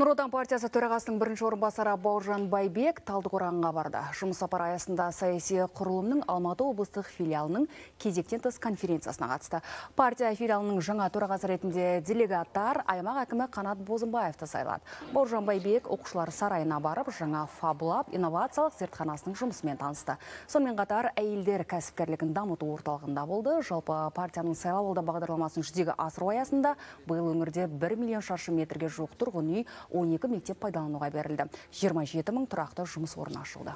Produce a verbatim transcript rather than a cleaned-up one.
Нұр Отан партиясы төрағасының бірінші орынбасары Бауыржан Байбек Талдықорғанға барды. Жұмыс сапары аясында саяси құрылымның Алматы облыстық филиалының кезектен тыс конференциясына қатысты. Партия филиалының жаңа төрағасы ретінде делегаттар аймақ әкімі Қанат Бозымбаевты сайлады. Бауыржан Байбек оқушылар сарайына барып, жаңа Фабулап инновациялық зертханасының жұмысымен танысты. Сонымен қатар әйелдер кәсіпкерлігін дамыту орталығында болды. Жалпы партияның сайлауалды бағдарламасын жүзеге асыру аясында биыл өңірде бір миллион шаршы метрге жуық тұрғын үй, он екі мектеп пайдалануға берілді. жиырма жеті мың тұрақты жұмыс орны ашылды.